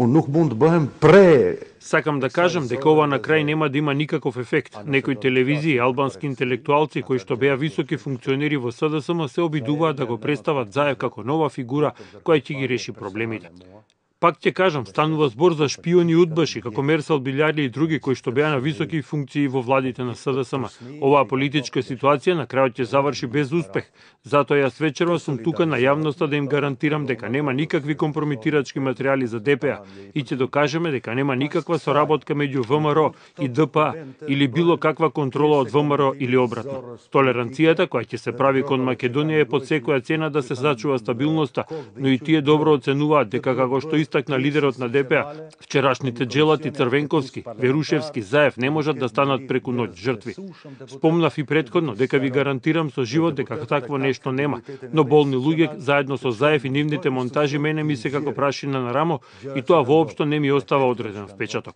nuk mund të bëhem pre. Сакам да кажам дека ова на крај нема да има никаков ефект. Некои телевизии, албански интелектуалци кои што беа високи функционери во СДСМ се обидуваат да го представат Заев како нова фигура која ќе ги реши проблемите. Пак ќе кажам, станува збор за шпиони и удбаши, како Мерсел Билјарли и други кои што беа на високи функции во владите на СДСМ. Оваа политичка ситуација на крајот ќе заврши без успех. Затоа јас вечерва сум тука на јавноста да им гарантирам дека нема никакви компрометирачки материјали за ДПА и ќе докажеме дека нема никаква соработка меѓу ВМРО и ДПА или било каква контрола од ВМРО или обратно. Толеранцијата која ќе се прави кон Македонија е под секоја цена да се зачува стабилноста, но и тие добро оценуваат дека како што истакна лидерот на ДПА, вчерашните Джелати, Црвенковски, Верушевски, Заев не можат да станат преку ноќ жртви. Спомнав и претходно дека ви гарантирам со живот дека такво нешто нема, но болни луѓе заедно со Заев и нивните монтажи мене ми се како прашина на рамо и тоа воопшто не ми остава одреден впечаток.